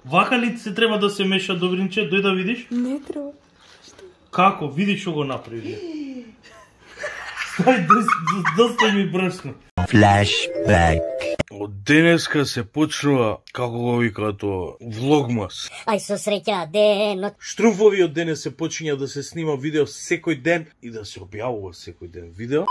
Вака ли се треба да се меша, Добринче? Дој да видиш? Не треба. Како? Види што го направи. Стај, доста ми брашно. Flashback. Од денеска се почнува, како го викаат тоа, влогмас. Ај со среќа денот. Штруфови од денес се почиња да се снима видео секој ден и да се објавува секој ден видео.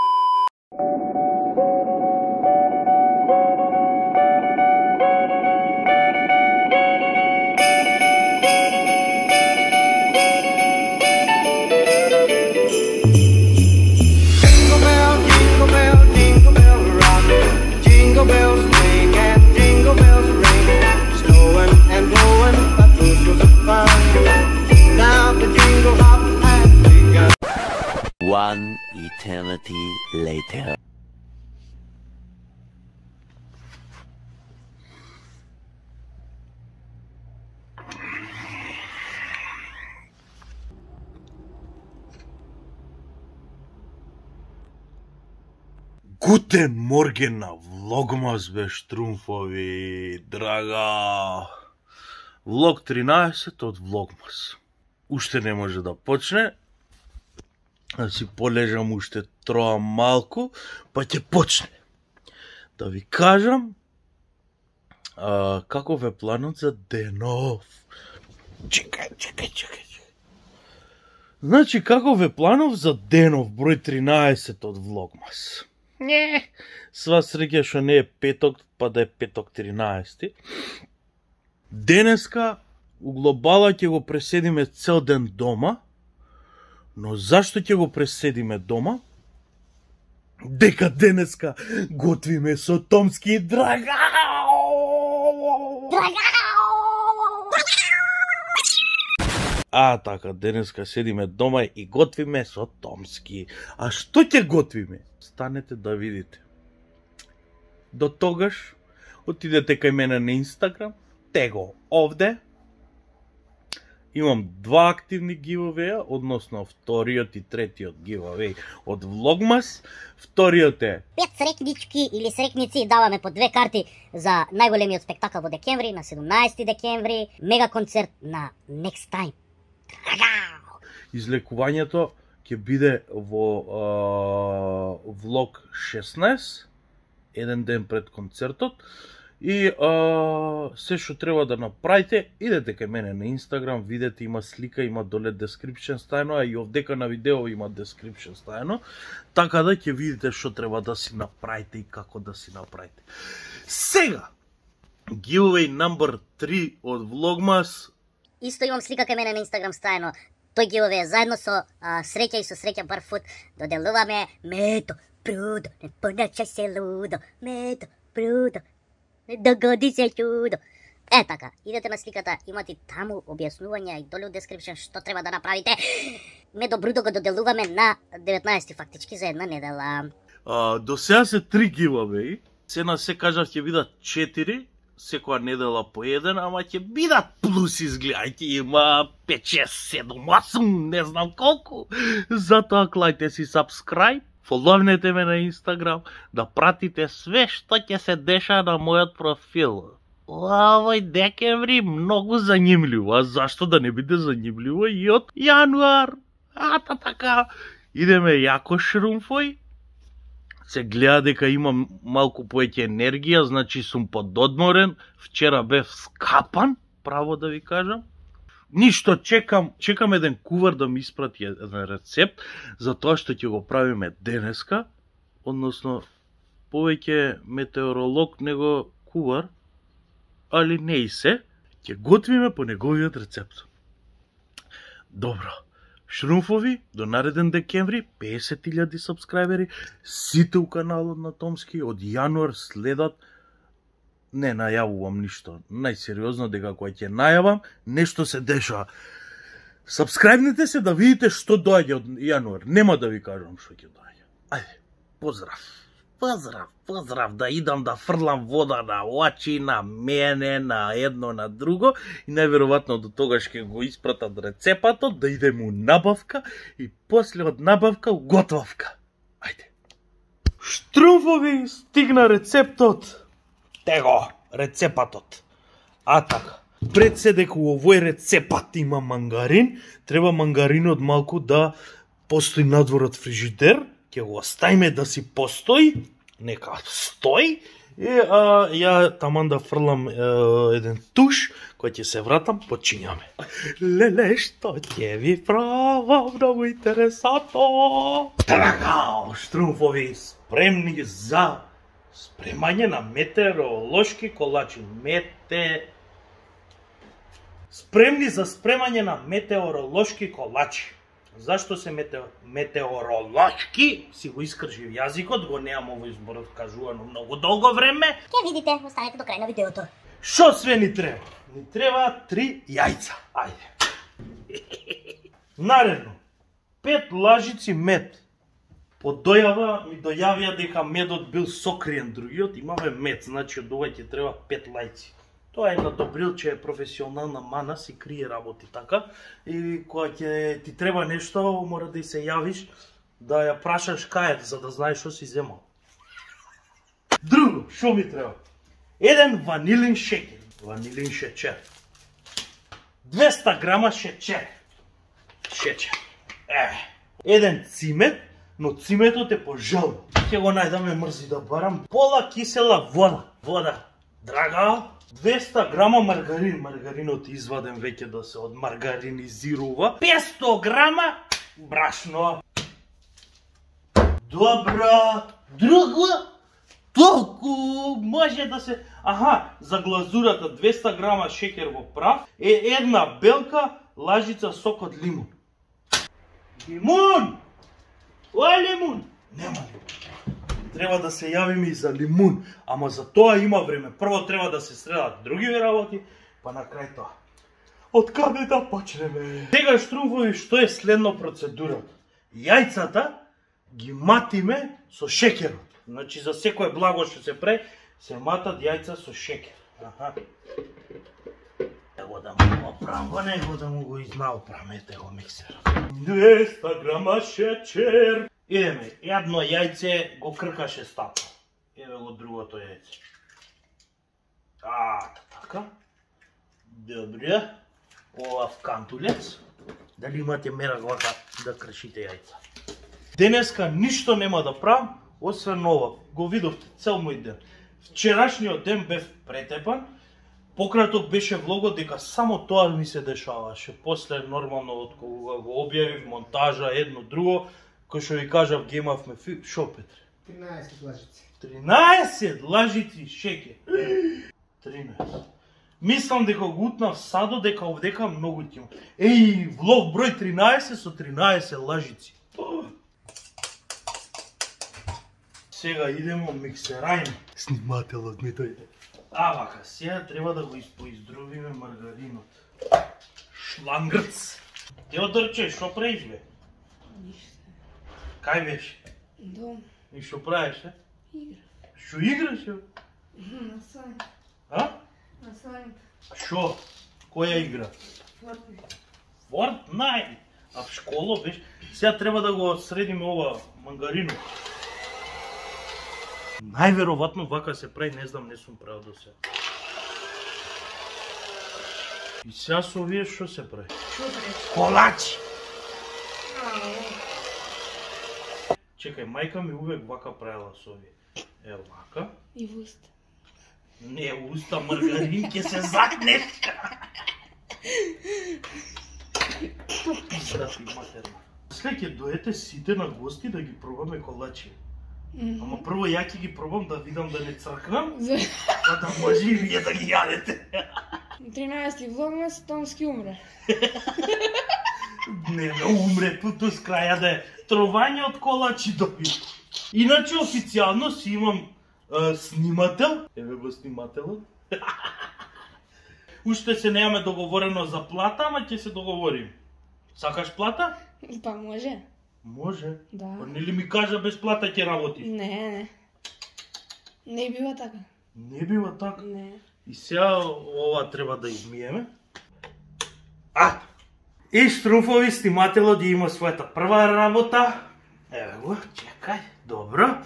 One eternity later. Гутен морген на влогмас бе Штруфови, драга. Влог 13 од влогмас. Уште не може да почне. Да си полежам уште троа малку, па ќе почне. Да ви кажам каков е планот за денов. Чекај. Значи, каков е планов за денов, број 13 од влогмас. Не, сва среќа што не е петок, па да е петок 13. Денеска у глобала ќе го преседиме цел ден дома. Но зашто ќе го преседиме дома? Дека денеска готвиме со Томски, драга! Така, денеска седиме дома и готвиме со Томски. А што ќе готвиме? Станете да видите. До тогаш, отидете кај мене на Инстаграм, tego овде. Имам два активни гивавеја, односно вториот и третиот гивавеј од Влогмас. Вториот е 5 срекнички или срекници, даваме по 2 карти за најголемиот спектакл во декември, на 17 декември, мега концерт на Next Time. Излекувањето ќе биде во влог 16, еден ден пред концертот. И се што треба да направите, идете кај мене на Инстаграм, видете, има слика, има доле description стајано, а и овдека на видео има description стајано, така да ќе видите што треба да си направите и како да си направите. Сега, giveaway number 3 од Влогмас. Исто имам слика кај мене на Инстаграм стајано. Тој giveaway заедно со Среќа и со Среќа Барфут доделуваме мето, прудо, не поначај се лудо, мето, прудо. Не догоди се чудо. Така, идете на сликата, имате таму објаснувања и доле у description што треба да направите. Медо брудо го доделуваме на 19 фактички за една недела. До сега се 3 giveaway. Се на се кажав ќе бидат 4, секоја недела по еден, ама ќе бидат плюс, изгледајте, има 5, 6, 7, 8, не знам колку. Затоа клајте си subscribe. Фоловнете ме на Инстаграм, да пратите све што ќе се деша на мојот профил. Овој декември многу занимливо, а зашто да не биде занимливо и од јануар? Така, идеме јако шрумфој. Се гледа дека имам малку поеќе енергија, значи сум пододморен. Вчера бев скапан, право да ви кажам. Ништо, чекам еден кувар да ми испрати еден рецепт за тоа што ќе го правиме денеска, односно повеќе метеоролог него кувар, али не и се, ќе готвиме по неговиот рецепт. Добро, шрумфови, до нареден декември, 50.000 сабскрајбери, сите у каналот на Томски, од јануар следат. Не најавувам ништо. Најсериозно дека кога ќе најавам, нешто се дешава. Сабскрајбнете се да видите што доаѓа од јануар. Нема да ви кажам што ќе доаѓа. Ајде, поздрав, да идам да фрлам вода на очи, на мене, на едно, на друго. И најверојатно до тогаш ќе го испратат рецепатот, да идем у набавка и после од набавка у готовка. Ајде. Штруфови, стигна рецептот. Tego, рецепатот. Така. Пред се дека у овој рецепат има мангарин, треба мангаринот малку да постои надвор од фрижидер, ќе го оставиме да си постои, нека стои, и ја таман да фрлам еден туш, кој ќе се вратам, почињаме. Леле, што ќе ви правам, многу интересантно. Така, штрумфови, спремни за спремање на метеоролошки колачи. Спремни за спремање на метеоролошки колачи. Зашто се метеоролошки? Си го искржив јазикот, го неам овој зборот кажувано многу долго време. Ќе видите, останете до крај на видеото. Шо све ни треба? Ни треба 3 јајца. Ајде. Наредно, 5 лажици мед. По дојава ми дојавија дека медот бил сокриен, другиот имаме мед, значи од ова ќе треба 5 лајци. Тоа е на Добрилче, е професионална мана, си крие работи така. И кога ќе ти треба нешто, мора да се јавиш, да ја прашаш кај, за да знаеш што си земал. Друго, што ми треба? Еден ванилин шеќер, ванилин шечер. 200 грама шечер. Еден цимет, но циметот е пожелно. Ќе го најдаме мрзи да барам. Пола кисела вода. Драга, 200 грама маргарин. Маргаринот изваден веќе да се одмаргаринизирува. 500 грама брашно. Добро. Друго? Толку може да се... Аха, за глазурата 200 грама шеќер во прав е една белка лажица сок од лимун. Лимун! Ој лимун! Нема лимун. Треба да се јавиме и за лимун, ама за тоа има време. Прво треба да се средат други работи, па на крај тоа. Од каде да почнеме? Сега штрумфови, што е следно процедурата? Јајцата ги матиме со шеќерот. Значи за секое благо што се прави, се матат јајца со шеќер. Аха. Его да му го оправам, него да му го изнаоправам, ете го миксерот. 200 грама шеќер. Идеме, едно јајце го кркаше стапа. Еве го другото јајце. Така. Добре. Ова вкантулец. Дали имате мера вака да кршите јајца? Денеска ништо нема да правам, освен ова. Го видовте цел мој ден. Вчерашниот ден бев претепан. Пократок беше влогот дека само тоа ми се дешаваше. После нормално од кога го објавив монтажа едно друго, кој што ви кажав гемавме шо Петре? 13 лажици. 13 лажици шеќер. 13. Мислам дека го утнав садо, дека овдека многу ти има. Еј, влог број 13 со 13 лажици. Сега идемо миксерајно. Снимателот ми дојде. Вака, сега треба да го поиздрувиме маргаринот. Шлангрц. Теодорче, шо правиш бе? Ништо. Кај беше? Дом. И шо правиш, е? Игра. Шо играш, е? На сланик. А? На сланик. Шо? Која игра? Fortnite. Fortnite? А в школа беше? Сега треба да го средиме ова мангаринот. Најверојатно вака се прави, не знам, не сум правил до сега. И сега со овие што се прави? Што правиш? Колачи! Чекај, мајка ми увек вака правила со овие. Е, вака. И в уста. Не, уста маргарин ќе се закнеш. Пизда ти матерна. След ќе дојдете сите на гости да ги пробаме колачи. Ама прво ја ќе ги пробам да видам да не цркнам, за да може и вие да ги јадете. 13 влогмас, Томски умре. Не умре, туто с краја да е тровање од колачи доби. Иначе официјално си имам снимател. Еве го снимателот. Уште се немаме договорено за плата, ама ќе се договорим. Сакаш плата? Па може. Може. Да. Нели ми кажа без плата ќе работиш? Не. Не бива така. Не бива така. Не. И сега ова треба да измиеме. И штрумфови, снимателот ја има својата прва работа. Еве го, чекај, добро.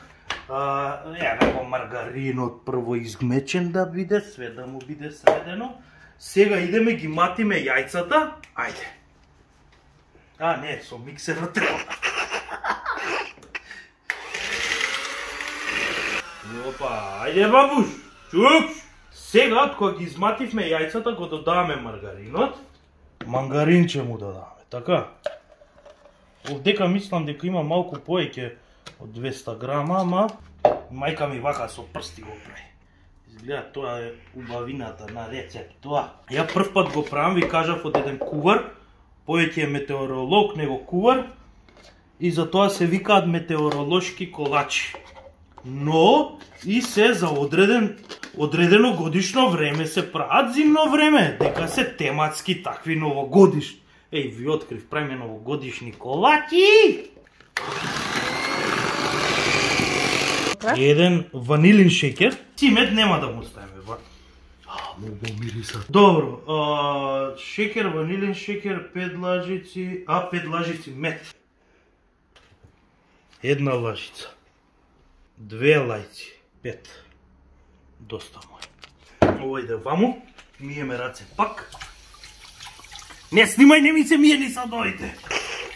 Еве го маргаринот прво измечен да биде, све да му биде средено. Сега идеме ги матиме јајцата. Ајде. А, не, со миксерот треба. Опа, ајде бабуш, чук! Сега, кога ги измативме јајцата, го додаваме маргаринот. Мангаринче му додаваме, така? Овдека мислам дека има малку повеќе од 200 грама, ама мајка ми вака со прсти го прави. Изгледа, тоа е убавината на рецепт, тоа. Ја прв пат го правам, ви кажав од еден кувар, повеќе е метеоролог него кувар, и затоа се викаат метеоролошки колачи. Но и се за одредено годишно време се прават зимно време, дека се тематски такви новогодишни. Еј, ви открив, правиме новогодишни колачи! Еден ванилин шекер, цимет нема да му ставиме. Многу мириса. Добро, шекер, ванилин шекер, 5 лажици, 5 лажици мед. Една лажица. 2 лајци, 5. Доста мој. Ово иде ваму, миеме раце пак. Не снимај, не ми се мие ни садовите.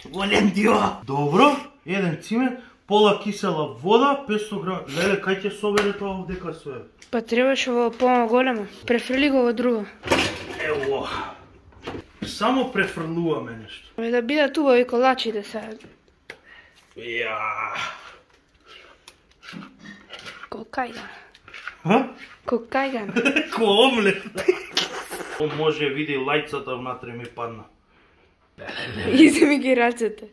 Голем дио. Добро, еден цимет, пола кисела вода, 500 грама. Леле, кај ќе собере тоа овдека све? Па требаше во по-големо. Префрли го во друго. Ево. Само префрлуваме нешто. Да бидат убави колачите сега. Ја. Кокајган. Ха? Кокајган. Ко омлет. Може види лајцата внатре ми падна. Изе ми ги рацете.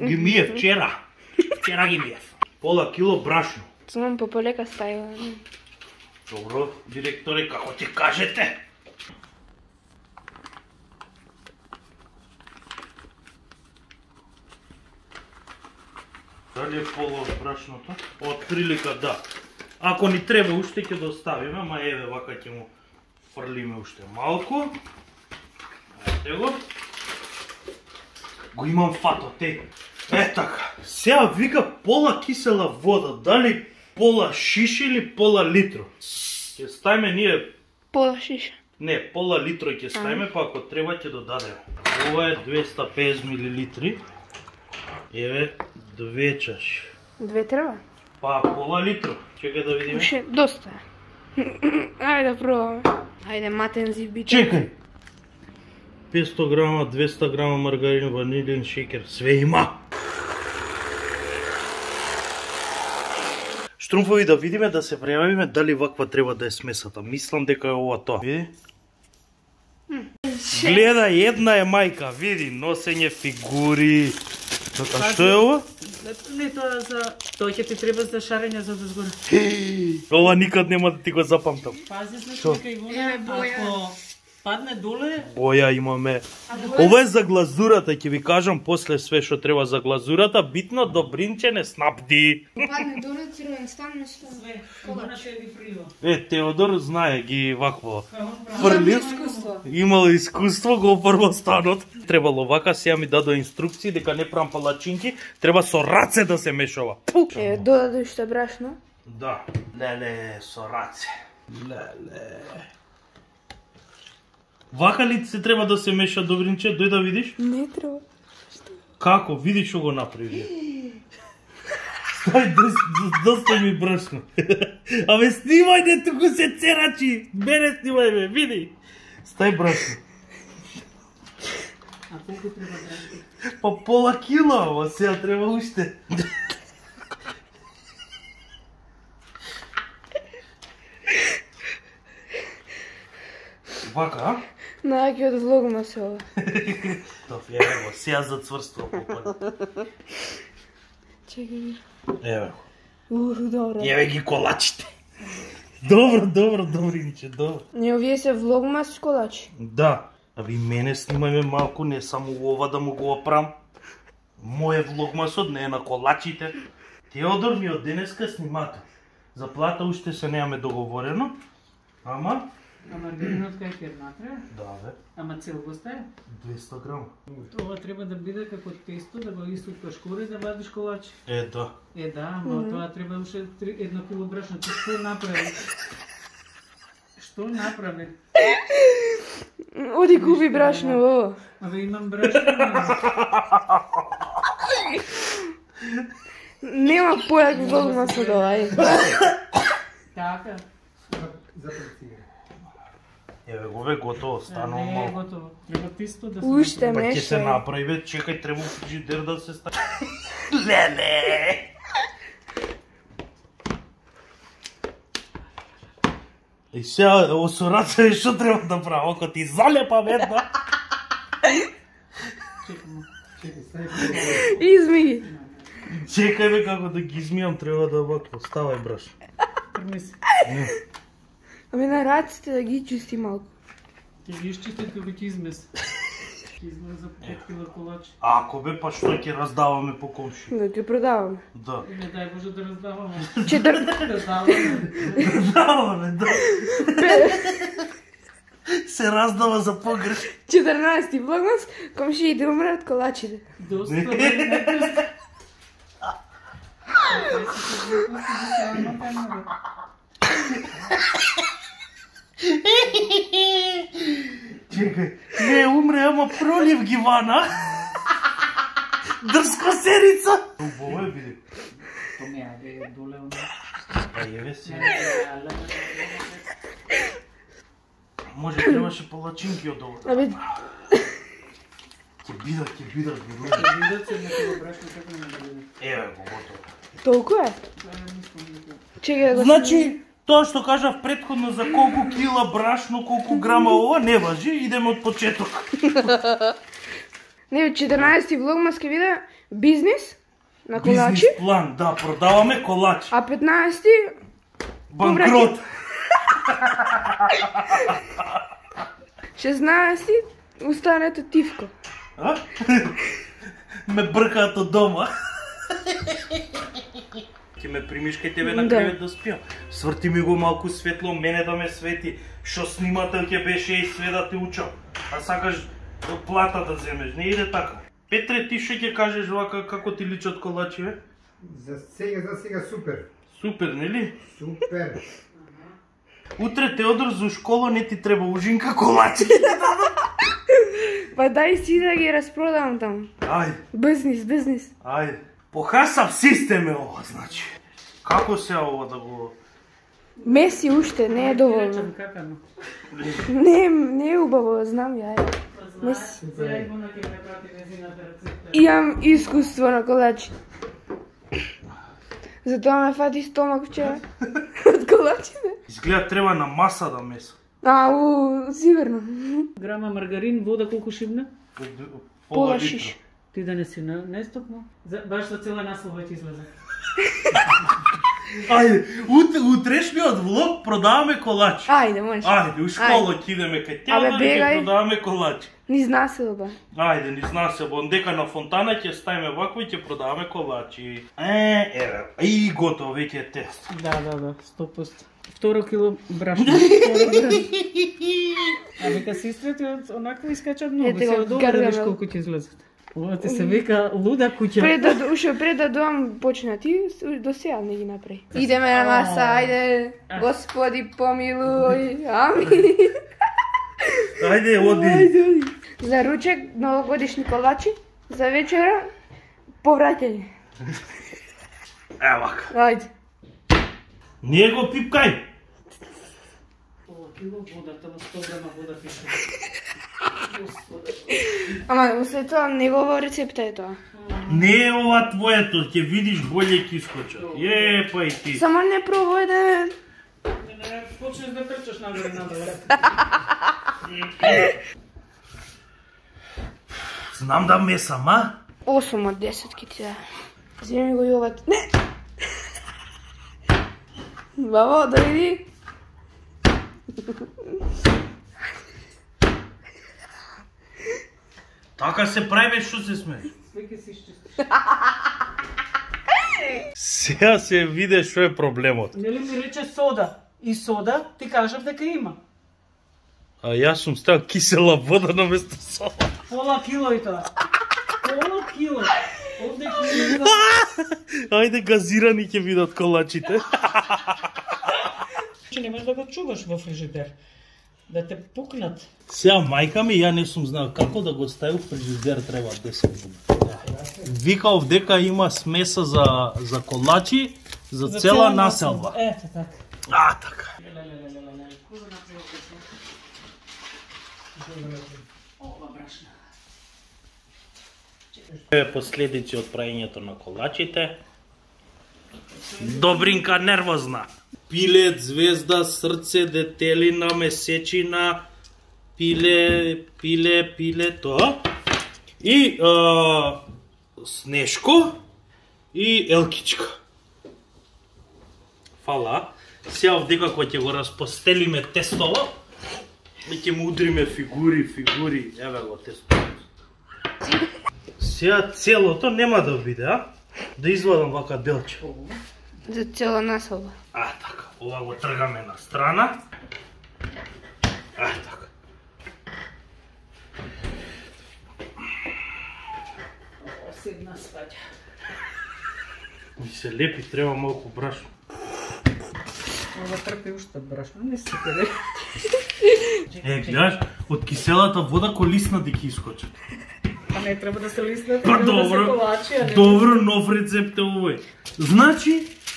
Ги миев вчера. Вчера ги миев. Пола кило брашно. Само пополека ставила. Добро, директоре, како ти кажете? Дали е поло брашното? Од прилика да. Ако ни треба уште ќе доставиме, ама еве вака ќе му фрлиме уште малку. Ајде го. Го имам фатот, е така. Сега вика пола кисела вода, дали пола шиша или пола литро? Ќе ставиме ние... Пола шиша. Не, пола литро ќе ставиме, па ако треба ќе додадеме. Ова е 250 мл. Еве, 2 чаши. 2 треба? Па, пола литро. Чекај да видиме. Ше, доста е. Ајде да пробаме. Ајде, матен зибите. Чекај! 500 грама, 200 грама маргарин, ванилин, шекер, све има. Штрумфови да видиме, да се прејавиме дали ваква треба да е смесата. Мислам дека е ова тоа. Види? Гледа, една е мајка, види, носење фигури. А што е ова? Не, тоа за... Тоа ќе ти треба за шарење за дозгоре. Ова никад нема да ти го запамтам. Пази се што кај го. Ако падне доле... Боја имаме. Ова е за глазурата, ќе ви кажам после све што треба за глазурата. Битно добринче не снапди. Падне доле, цирвен стан, нешто. Све, кога ќе ви фрила. Теодор знае ги вакво. Имам искуство. Имало искуство, го опрва станот. Требало вака, сега ми дадо инструкции дека не правам палачинки, треба со раце да се мешава. Пу! Додаде уште брашно. Да, леле, со раце. Леле. Вака ли се треба да се меша, Добринче? Дој да видиш? Не треба. Како? Види што го направи. Стај, доста ми брашно. Абе, снимај, не туку се церачи. Мене снимај, бе, види. Стај брашно. А колку треба брашно? Па пола кила, ама сега треба уште. Вака, а? Најаки од влогма се ова. Тоф, еве го, сега зацврства попад. Чекай. Еве го. Добро. Еве ги колачите. Добро, Добринче, добро. Не, овие се влогмас колачи. Да, а ви мене снимајме малку, не само ова да му го опрам. Моје влогмасот не е на колачите. Теодор ми од денеска снимател. Заплата уште се немаме договорено, ама... А маргаринот кај ќе внатре? Да, бе. Ама цел го стае? 200 грама. Ова треба да биде како тесто, да го истукаш кори, да вадиш колачи. Да. Да, ама тоа треба уште 1 кило брашно. Ти што направи? Што направи? Оди купи брашно, ово. Абе имам брашно. Нема појак влогма со тоа, Така. Еве го бе готово, станува Не е малку. готово. Треба тисто да се Уште Па ќе се нешто. направи, бе, чекај, треба фрижидер да се стави. Леле! И сега, со раце, што треба да правам? Ако ти залепа ведно? Изми. Чекај бе како да ги измијам, треба да вако. Ставај, браш. Примиси. Ами на раците да ги чисти малку. Ќе ги изчистите како ќе измес. Ќе измес за 5 кила колачи. Ако бе, па што ќе раздаваме по комши? Да ги продаваме. Да. Не дай Боже да раздаваме. Раздаваме, да. Се раздава за погреш. 14-ти влогмас, комшиите умрат колачите. Доста не. Чекај, не умре, ама пролив ги вана. Дрска серица. Убаво е, биде. То не е доле оно. Па еве се. Може требаше палачинки од ова. Абе, Ќе бидат бурува. Видат се некој брашно како не биде. Еве го готово. толку е? Чекај да го Значи, тоа што кажав претходно за колку кила брашно, колку грама ова, не важи, идеме од почеток. Не, 14-ти влогмас ке биде бизнис на колачи, Бизнес план, да, продаваме колачи. а 15-ти Банкрот. 16-ти останете тивко. А? Ме бркаат од дома. Ќе ме примиш кај тебе на Да. кревет да спиам. Сврти ми го малку светло, мене да ме свети. Што снимател ќе беше и све да те учам. А сакаш плата да земеш, не иде така. Петре, ти што ќе кажеш вака како ти личат колачи, бе? За сега супер. Супер, нели? Супер. Утре Теодор за школа не ти треба ужинка колачи. Па дај си да ги распродам таму. Ајде. Бизнис. Ајде. Похасав систем е ова, значи. Како се ова да го... Меси уште, не е доволно. Речем какано. Не е убаво, знам ја. Меси. Сега и гона ќе ме прати незината рецепта. Имам искуство на колачи. Затоа ме фати стомак вчера. Од колачите. Изгледа треба на маса да меса. Сигурно. Грама маргарин, вода колку шибна? Пола литра. шиш. Ти да не си нестопно? Баш за цела наслова ќе излезе. Ајде, утрешниот влог продаваме колачи. Ајде, можеш. Ајде, у школа ќе идеме кај Теодор и ќе бегај. продаваме колачи. Ни зна се оба. Ајде, ни зна се, дека на фонтана ќе ставиме вакво и ќе продаваме колачи. Еве, и готово, веќе е тест. Да, 100%. 2 кило брашно. А вика сестрите онакво искачат многу. Ете го, Се од ова да видиш гаргамел. колку ќе излезат. Ова ти се вика луда куќа. Пред да доам почна ти, до сега не ги направи. Идеме на маса, ајде. Господи, помилуј. Ами. Ајде, оди. Оди. За ручек новогодишни колачи, за вечера повраќање. Евака. Ајде. Ние го пипкај. Ова кило вода, тоа 100 грама вода пише. Ама след тоа негово рецепта е тоа. Не е ова твоето, ќе видиш болje ќе искочат. Па и ти. Само не пробај да... Не почнеш да трчаш нагоре надоле. Знам да месам, а? 8 од 10 ки ти да. Земи го јоват. Не! Баба, да види. Така се прави, што се смееш. Свеќе си изчистиш. Сега се виде што е проблемот. Нели ми рече сода? И сода ти кажав дека има. А јас сум ставил кисела вода на место сода. Пола кило и тоа. Пола кило. Овде кило. Ајде газирани ќе видат колачите. Че немаш да го чуваш во фрижидер. Да те пукнат. Сега мајка ми, ја не сум знал како да го стави в фрижидер, треба 10 дни. Викав дека има смеса за колачи, за цела населба. Ето така. А, така. Ова брашна. Последици од праењето на колачите. Добринка нервозна. Пилет, звезда, срце, детелина, месечина, пиле, тоа. И снешко и елкичка. Фала. Сега овдека кога ќе го распостелиме тестово, и ќе му удриме фигури, еве го тестовото. Сега целото нема да биде, а? Да извадам вака делче. За цела населба. А, така. Ова го тргаме на страна. А, така. Седна сваѓа. Ми се лепи, треба малку брашно. Ова трпи уште брашно, не се тере. Гледаш, од киселата вода колисна ди ќе искочат. А не треба да се лиснат, Па треба да се колачи, а не... добро, нов рецепт е овој. Значи,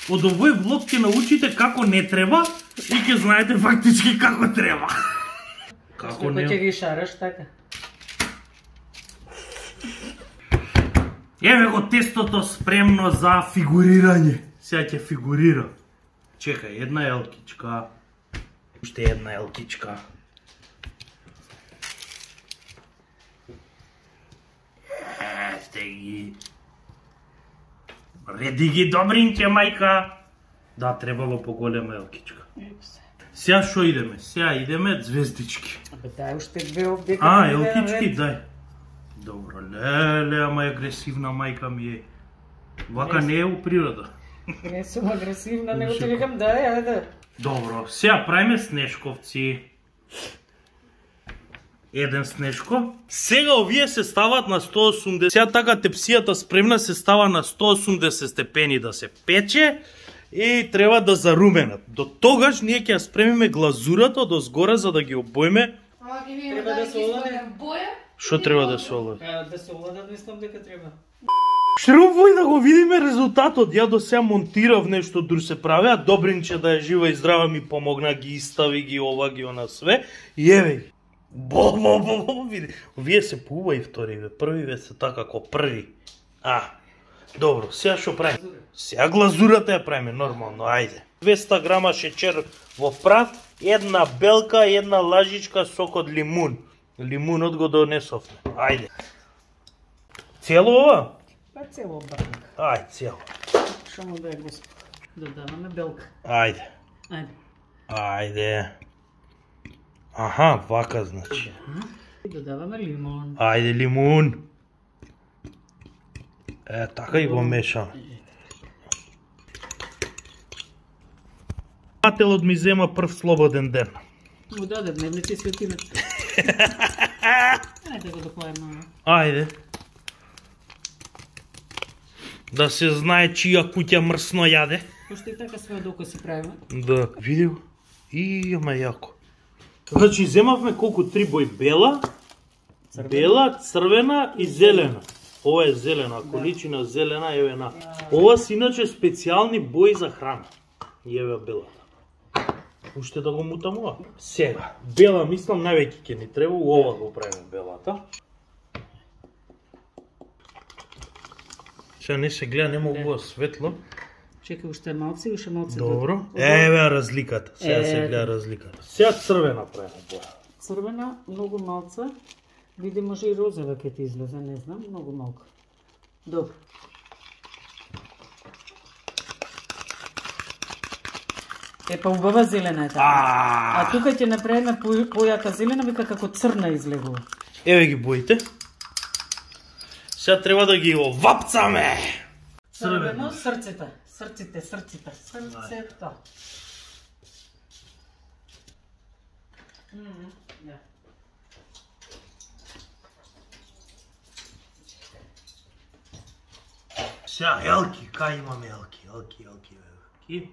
од овој влог ќе научите како не треба и ќе знаете фактички како треба. Како Кој ќе не? ги шараш така? Еве го тестото спремно за фигурирање. Сега ќе фигурира. Чекај, една елкичка. Уште една елкичка. Ете ги. Реди ги добринке, мајка. Да, требало поголема елкичка. Сега шо идеме? Сега идеме звездички. Абе дај уште две овдека. А, елкички, дај. Добро, леле, ама е агресивна мајка ми е. Вака не е у природа. Не сум агресивна, него ти викам дај, ајде. Добро, сега правиме снешковци. Еден снешко. Сега овие се стават на 180. Сега така тепсијата спремна се става на 180 степени да се пече и треба да заруменат. До тогаш ние ќе ја спремиме глазурата од озгора за да ги обојме. Ама ќе видиме Треба да се олади. боја. Што треба да се олади? Да се оладат, мислам дека треба. Шрубој да го видиме резултатот. Ја до сега монтирав нешто друго се прави, а Добринче да е жива и здрава ми помогна, ги истави, ги ова, ги она све. И еве ги. Види. Овие се поубави вториве, првиве се така како први. Добро, сега што правиме? Сега глазурата ја правиме нормално, ајде. 200 грама шеќер во прав, една белка, една лажичка сок од лимун. Лимунот го донесовме. Ајде. Цело ова? Па цело брак. Ајде, цело. Шо му да е господ? Додаваме белка. Ајде. Ајде. Ајде. Аха, вака значи. И додаваме лимон. Ајде, лимун. Така и го мешаме. Пателот ми зема прв слободен ден. Му даде дневници светиме. Ајде го допојаме. Ајде. Да се знае чија куќа мрсно јаде. Пошто и така све докоси правиме. Да, види го. И ама јако. Значи, земавме колку 3 бои бела, бела, црвена и зелена. Ова е зелена, количина зелена, еве на. Ова се иначе специјални бои за храна. И еве белата. Уште да го мутам ова. Сега, бела мислам највеќе ќе ни треба, ова го правиме белата. Сега не се гледа, нема ова светло. Чекај уште малци, уште малци. Добро. Еве разликата. Сега се гледа разликата. Сега црвена правиме боја. Црвена, многу малца. Види, може и розова ќе ти излезе, не знам, многу малку. Добро. Епа убава зелена е така. А тука ќе направиме појака зелена, вика како црна излегува. Еве ги боите. Сега треба да ги овапцаме. Црвено, срците. Срцето. Сега елки, кај имаме елки?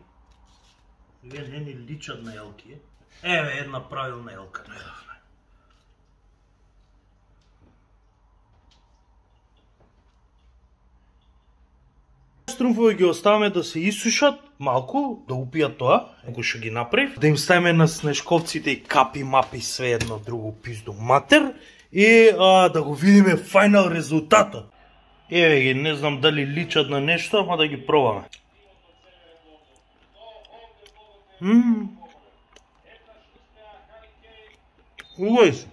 Вие не ни личат на елки. Еве една правилна елка најдавна. Струмфови ги оставаме да се исушат малку, да упијат тоа, ако што ги направив, да им ставиме на снешковците и капи, мапи, све едно друго пизду матер и да го видиме фајнал резултатот. Еве ги, не знам дали личат на нешто, ама да ги пробаме. Убави се.